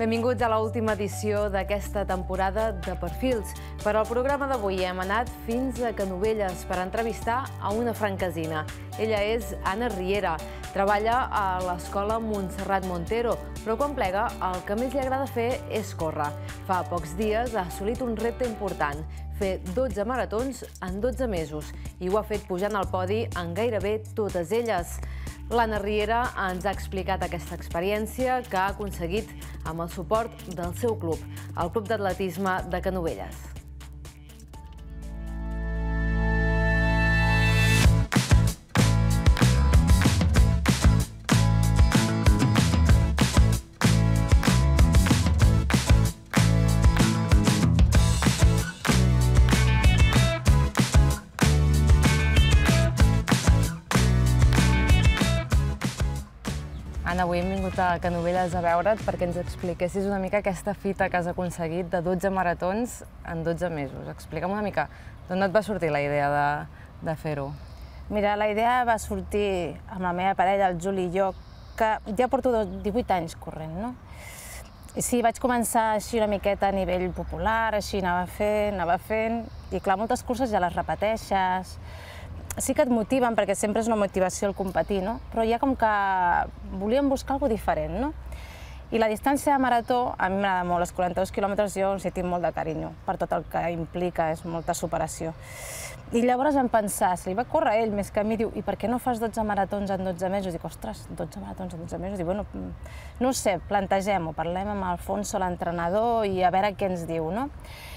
Benvinguts a l'última edició d'aquesta temporada de Perfils. Per al programa d'avui hem anat fins a Canovelles per entrevistar a una franquesina. Ella és Anna Riera, treballa a l'escola Montserrat Montero, però quan plega el que més li agrada fer és córrer. Fa pocs dies ha assolit un repte important, fer 12 maratons en 12 mesos, i ho ha fet pujant al podi en gairebé totes elles. L'Anna Riera ens ha explicat aquesta experiència que ha aconseguit amb el suport del seu club, el Club d'Atletisme de Canovelles. Anna, avui hem vingut a Canovelles a veure't perquè ens expliquessis una mica aquesta fita que has aconseguit de 12 maratons en 12 mesos. Explica'm una mica d'on et va sortir la idea de fer-ho. Mira, la idea va sortir amb la meva parella, el Juli i jo, que ja porto 18 anys corrent, no? I sí, vaig començar així una miqueta a nivell popular, així anava fent, i clar, moltes curses ja les repeteixes. Sí que et motiven, perquè sempre és una motivació el competir, no? Però ja com que volíem buscar alguna cosa diferent, no? I la distància de marató, a mi m'agrada molt, els 42 quilòmetres jo els hi tinc molt de carinyo, per tot el que implica, és molta superació. I llavors vam pensar, se li va córrer ell més que a mi, diu, i per què no fas 12 maratons en 12 mesos? Dic, ostres, 12 maratons en 12 mesos? Dic, bueno, no ho sé, plantegem-ho, parlem amb Alfonso, l'entrenador, i a veure què ens diu, no?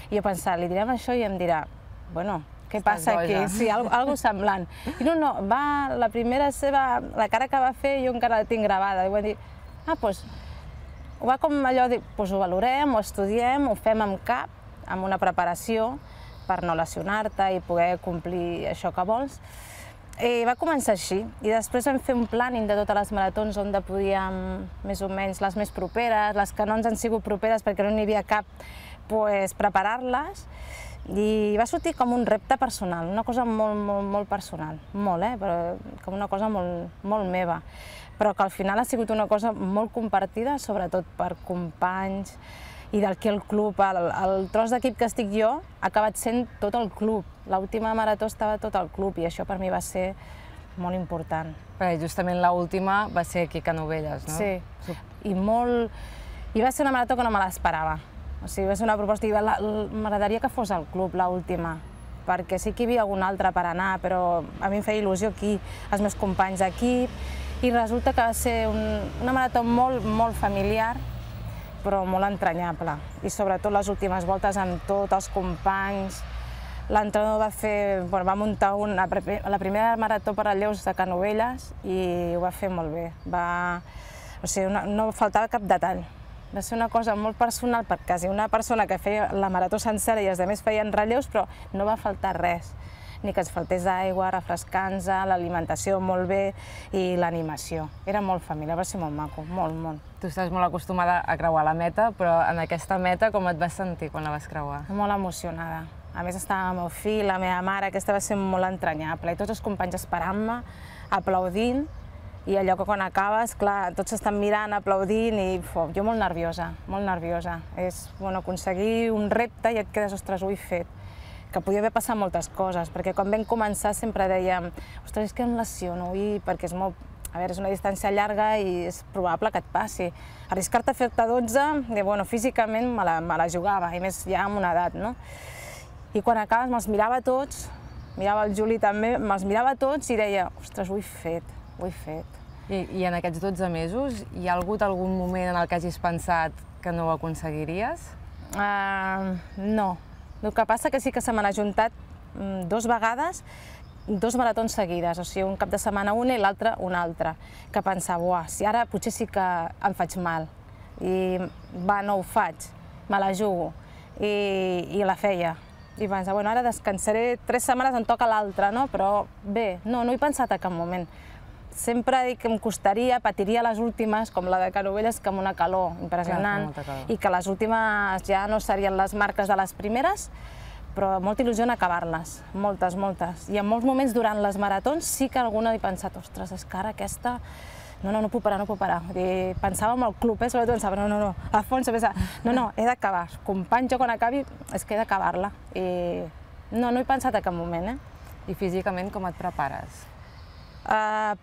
I jo pensava, li direm això i em dirà, bueno, què passa aquí? Sí, alguna semblant. I no, va, la primera seva, la cara que va fer jo encara la tinc gravada. I va dir, doncs, ho va com allò, doncs ho valorem, ho estudiem, ho fem amb cap, amb una preparació per no lesionar-te i poder complir això que vols. I va començar així. I després vam fer un plàning de totes les maratons on podíem, més o menys, les més properes, les que no ens han sigut properes perquè no n'hi havia cap, preparar-les. I va sortir com un repte personal, una cosa molt personal, molt, però com una cosa molt meva, però que al final ha sigut una cosa molt compartida, sobretot per companys i d'aquí el club. El tros d'equip que estic jo ha acabat sent tot el club. L'última marató estava tot el club i això per mi va ser molt important. Perquè justament l'última va ser aquí a Canovelles, no? Sí, i va ser una marató que no me l'esperava. O sigui, va ser una proposta i m'agradaria que fos al club, l'última, perquè sí que hi havia algun altre per anar, però a mi em feia il·lusió aquí, els meus companys d'equip, i resulta que va ser una marató molt familiar, però molt entranyable. I sobretot les últimes voltes amb tots els companys. L'entrenador va muntar la primera marató per a lleus de Canovelles i ho va fer molt bé. O sigui, no faltava cap detall. Va ser una cosa molt personal, perquè quasi una persona que feia la marató sencera i els altres feien relleus, però no va faltar res. Ni que ens faltés aigua, refrescants, l'alimentació molt bé i l'animació. Era molt familiar, va ser molt maco, molt. Tu estàs molt acostumada a creuar la meta, però en aquesta meta com et vas sentir quan la vas creuar? Molt emocionada. A més estava el meu fill, la meva mare, aquesta va ser molt entranyable, i tots els companys esperant-me, aplaudint, i allò que quan acabes, clar, tots estan mirant, aplaudint, i jo molt nerviosa. És aconseguir un repte i et quedes, ostres, ho he fet. Que podia haver passat moltes coses, perquè quan vam començar sempre dèiem, ostres, és que em lesiono, perquè és una distància llarga i és probable que et passi. Arriscar-te a fer-te 12, físicament me la jugava, i més ja amb una edat, no? I quan acabes me'ls mirava tots, mirava el Juli també, me'ls mirava tots i deia, ostres, ho he fet. I en aquests 12 mesos hi ha hagut algun moment en el que hagis pensat que no ho aconseguiries? No. El que passa que sí que se m'han ajuntat 2 vegades, 2 maratons seguides, o sigui, un cap de setmana una i l'altre una altra, que pensava, si ara potser sí que em faig mal, i no ho faig, me la jugo, i la feia. I pensava, ara descansaré 3 setmanes, em toca l'altra, no? Però bé, no he pensat a cap moment. Sempre dic que em costaria, patiria les últimes, com la de Canovelles, que amb una calor impressionant, i que les últimes ja no serien les marques de les primeres, però molta il·lusió en acabar-les, moltes. I en molts moments durant les maratons sí que alguna he pensat, ostres, és que ara aquesta no puc parar, no puc parar. Pensava en el club, sobretot pensava, no, Alfonso, no, he d'acabar. Company, jo quan acabi és que he d'acabar-la. I no he pensat a cap moment. I físicament com et prepares?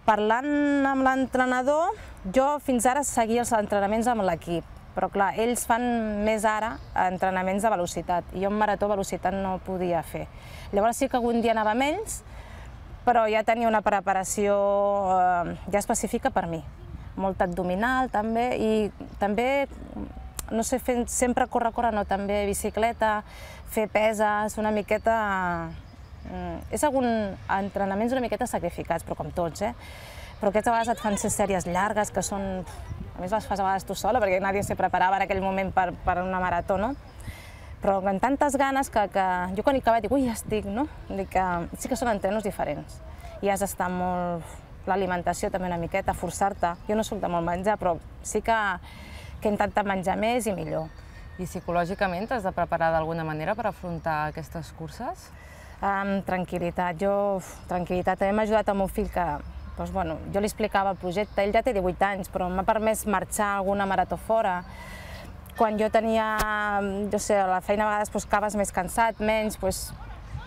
Parlant amb l'entrenador, jo fins ara seguia els entrenaments amb l'equip, però clar, ells fan més ara entrenaments de velocitat, i jo en marató velocitat no podia fer. Llavors sí que algun dia anava amb ells, però ja tenia una preparació ja específica per mi. Molt abdominal també, i també, no sé, sempre córrer, no, també bicicleta, fer peses, una miqueta... És alguns entrenaments una miqueta sacrificats, però com tots, Però aquestes vegades et fan ser sèries llargues, que són... A més les fas a vegades tu sola, perquè nadie se preparava en aquell moment per una marató, no? Però amb tantes ganes que jo quan he acabat dic, ui, ja estic, no? Dic que sí que són entrenos diferents. I has d'estar molt... L'alimentació també una miqueta, forçar-te. Jo no soc de molt menjar, però sí que he intentat menjar més i millor. I psicològicament t'has de preparar d'alguna manera per afrontar aquestes curses? Tranquil·litat. Tranquil·litat. També m'ha ajudat el meu fill que, jo li explicava el projecte. Ell ja té 18 anys, però m'ha permès marxar a alguna marató fora. Quan jo tenia, a la feina a vegades acabes més cansat, menys,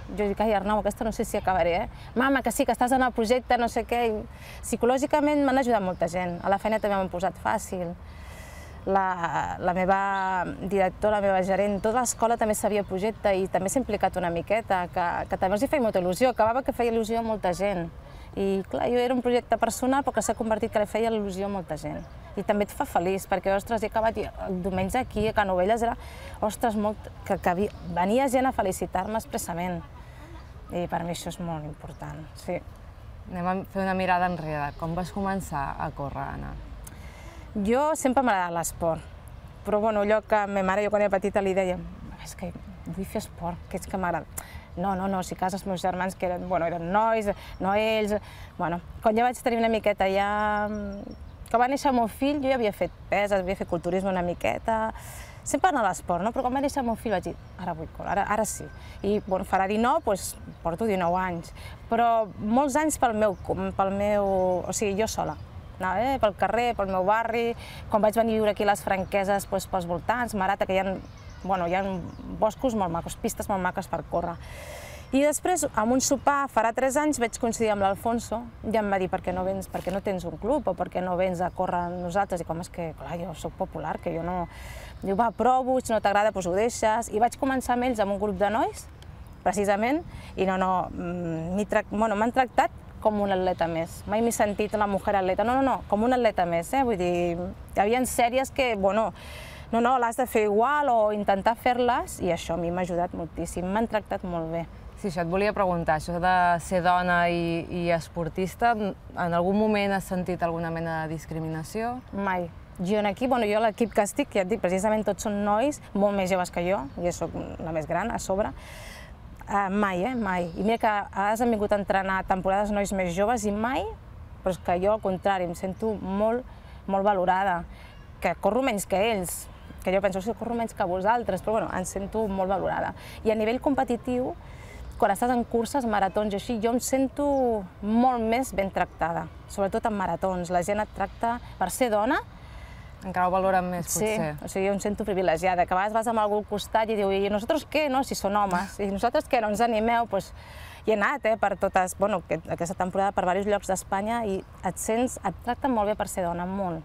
jo dic, ai Arnau, aquesta no sé si acabaré, Mama, que sí, que estàs en el projecte, no sé què. Psicològicament m'han ajudat molta gent. A la feina també m'han posat fàcil. La meva directora, la meva gerent, tota l'escola també sabia el projecte i també s'ha implicat una miqueta, que també els feia molta il·lusió, acabava que feia il·lusió a molta gent. I clar, jo era un projecte personal però que s'ha convertit que li feia il·lusió a molta gent. I també et fa feliç, perquè, ostres, he acabat el diumenge aquí a Canovelles, era, ostres, que venia gent a felicitar-me expressament. I per mi això és molt important, sí. Anem a fer una mirada enrere. Com vas començar a córrer, Anna? Jo sempre m'ha agradat l'esport, però allò que ma mare, jo quan era petita li deia, és que vull fer esport, que és que m'agrada. No, si cas els meus germans, que eren nois, no ells... Quan ja vaig tenir una miqueta, que va néixer el meu fill, jo ja havia fet peses, havia fet culturisme una miqueta, sempre anar a l'esport, però quan va néixer el meu fill vaig dir, ara vull córrer, ara sí. I farà 19, porto 19 anys, però molts anys pel meu, o sigui, jo sola. Anava pel carrer, pel meu barri, quan vaig venir a viure aquí a les Franqueses, pels voltants, Marata, que hi ha boscos molt macos, pistes molt maques per córrer. I després, amb un sopar, farà 3 anys, vaig coincidir amb l'Alfonso i em va dir, per què no tens un club o per què no vens a córrer amb nosaltres? I com és que, clar, jo soc popular, que jo no... Diu, va, provo, si no t'agrada, doncs ho deixes. I vaig començar amb ells amb un grup de nois, precisament, i m'han tractat com un atleta més. Mai m'he sentit la mujer atleta, no, com un atleta més, Vull dir, hi havia sèries que, l'has de fer igual o intentar fer-les, i això a mi m'ha ajudat moltíssim, m'han tractat molt bé. Sí, això et volia preguntar, això de ser dona i esportista, en algun moment has sentit alguna mena de discriminació? Mai. Jo aquí, jo a l'equip que estic, ja et dic, precisament tots són nois, molt més joves que jo, jo soc la més gran a sobre, mai, mai. I mira que a vegades han vingut a entrenar temporades nois més joves i mai, però és que jo al contrari, em sento molt valorada, que corro menys que ells, que jo penso que corro menys que vosaltres, però em sento molt valorada. I a nivell competitiu, quan estàs en curses, maratons i així, jo em sento molt més ben tractada, sobretot en maratons. La gent et tracta per ser dona. Encara ho valoren més, potser. Sí, o sigui, jo em sento privilegiada, que a vegades vas amb algú al costat i diu, i nosaltres què, no? Si són homes, i nosaltres què, no ens animeu? Hi he anat, per totes, aquesta temporada per diversos llocs d'Espanya i et tracten molt bé per ser dona, molt.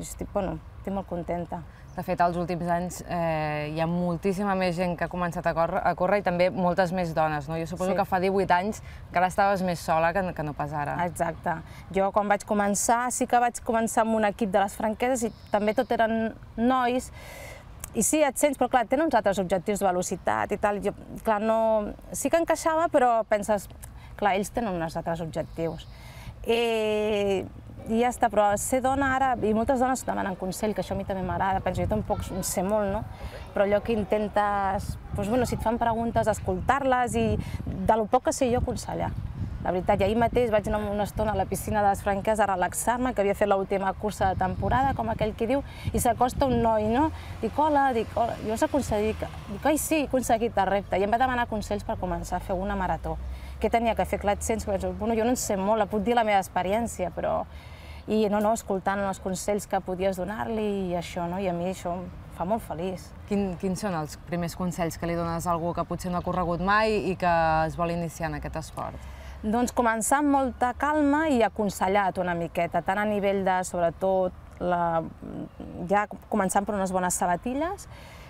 I estic molt contenta. De fet, als últims anys hi ha moltíssima més gent que ha començat a córrer i també moltes més dones, no? Jo suposo que fa 18 anys encara estaves més sola que no pas ara. Exacte. Jo quan vaig començar, sí que vaig començar amb un equip de les Franqueses i també tot eren nois. I sí, et sents, però clar, tenen uns altres objectius de velocitat i tal. Jo, clar, no... Sí que encaixava, però penses, clar, ells tenen uns altres objectius. I ja està, però ser dona ara, i moltes dones demanen consell, que això a mi també m'agrada, penso, jo tampoc en sé molt, no? Però allò que intentes, si et fan preguntes, escoltar-les i de lo poc que sé jo aconsellar. La veritat, i ahir mateix vaig anar una estona a la piscina de les Franqueses a relaxar-me, que havia fet l'última cursa de temporada, com aquell qui diu, i s'acosta un noi, no? Dic, hola, jo us aconseguit, dic, ai sí, he aconseguit el repte, i em va demanar consells per començar a fer una marató. Què tenia que fer? Clar, et sents, jo no en sé molt, puc dir la meva experiència, però... i escoltant els consells que podies donar-li i això, i a mi això em fa molt feliç. Quins són els primers consells que li dones a algú que potser no ha corregut mai i que es vol iniciar en aquest esport? Doncs començar amb molta calma i aconsellat una miqueta, tant a nivell de, sobretot, ja començant per unes bones sabatilles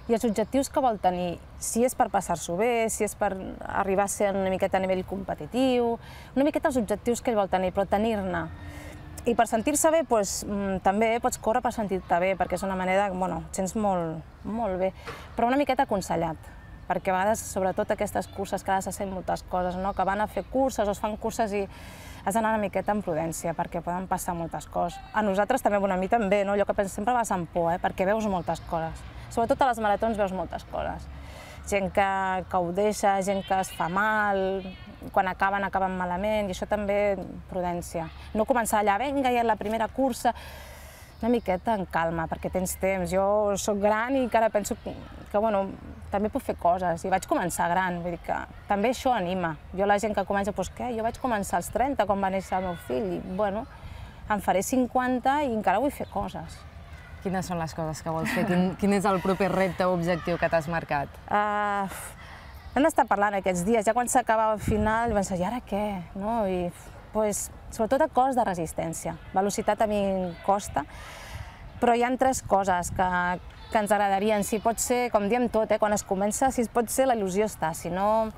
i els objectius que vol tenir, si és per passar-s'ho bé, si és per arribar a ser una miqueta a nivell competitiu, una miqueta els objectius que ell vol tenir, però tenir-ne. I per sentir-se bé, també pots córrer per sentir-te bé, perquè és una manera que et sents molt bé, però una miqueta aconsellat, perquè a vegades, sobretot aquestes curses, que has de fer moltes coses, que van a fer curses o es fan curses i has d'anar una miqueta amb prudència, perquè poden passar moltes coses. A nosaltres també, a mi també, allò que sempre vas amb por, perquè veus moltes coses. Sobretot a les maratons veus moltes coses. Gent que ho deixa, gent que es fa mal, quan acaben malament, i això també, prudència. No començar allà, vinga, ja la primera cursa, una miqueta en calma, perquè tens temps. Jo soc gran i encara penso que també puc fer coses, i vaig començar gran, vull dir que també això anima. Jo la gent que comença, doncs què? Jo vaig començar als 30, quan va néixer el meu fill, i em faré 50 i encara vull fer coses. Quines són les coses que vols fer? Quin és el proper repte o objectiu que t'has marcat? Hem d'estar parlant aquests dies, ja quan s'acabava el final, i pensar, i ara què? Sobretot a cos de resistència. Velocitat a mi em costa, però hi ha 3 coses que ens agradarien. Si pot ser, com diem tot, quan es comença, si pot ser, la il·lusió està. Si no,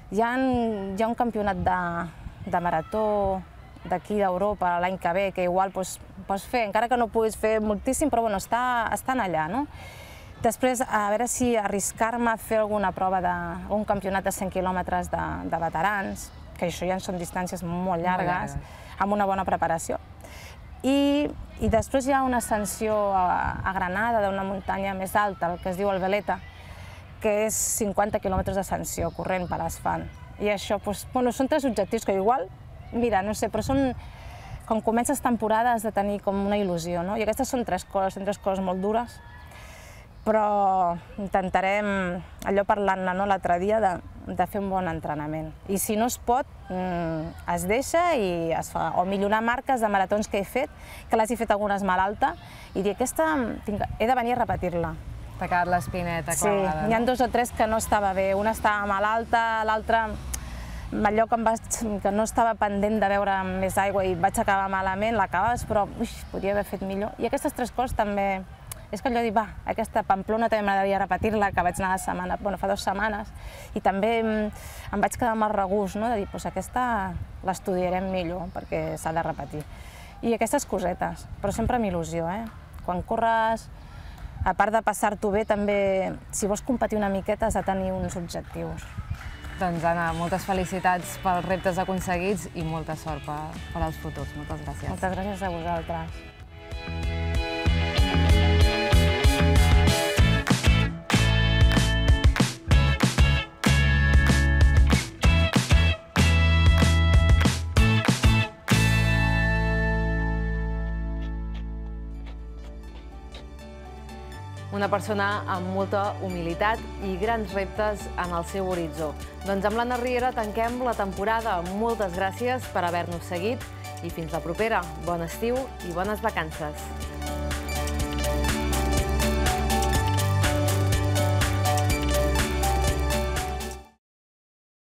hi ha un campionat de marató d'aquí d'Europa l'any que ve, que igual pots fer, encara que no puguis fer moltíssim, però estan allà. Després, a veure si arriscar-me a fer alguna prova d'un campionat de 100 quilòmetres de veterans, que això ja són distàncies molt llargues, amb una bona preparació. I després hi ha una ascensió a Granada d'una muntanya més alta, el que es diu el Veleta, que és 50 quilòmetres d'ascensió corrent per asfalt. I això, són 3 objectius que igual, mira, no sé, però quan comences temporada has de tenir com una il·lusió, i aquestes són 3 coses molt dures, però intentarem, allò parlant-ne l'altre dia, de fer un bon entrenament. I si no es pot, es deixa i es fa. O millorar marques de maratons que he fet, que les he fet algunes malalta, i dir, aquesta he de venir a repetir-la. T'ha quedat l'espineta clavada, no? Hi ha 2 o 3 que no estava bé. Una estava malalta, l'altra allò que no estava pendent de beure més aigua i vaig acabar malament, l'acabes, però podria haver fet millor. I aquestes 3 coses també, és que allò de dir, aquesta Pamplona també m'agradaria repetir-la, que vaig anar fa 2 setmanes, i també em vaig quedar amb el regust, de dir, aquesta l'estudiarem millor, perquè s'ha de repetir. I aquestes cosetes, però sempre amb il·lusió, Quan corres, a part de passar-t'ho bé, també, si vols competir una miqueta, has de tenir uns objectius. Doncs, Anna, moltes felicitats pels reptes aconseguits i molta sort per als futurs. Moltes gràcies. Moltes gràcies a vosaltres. Una persona amb molta humilitat i grans reptes en el seu horitzó. Doncs amb l'Anna Riera tanquem la temporada. Moltes gràcies per haver-nos seguit i fins la propera. Bon estiu i bones vacances.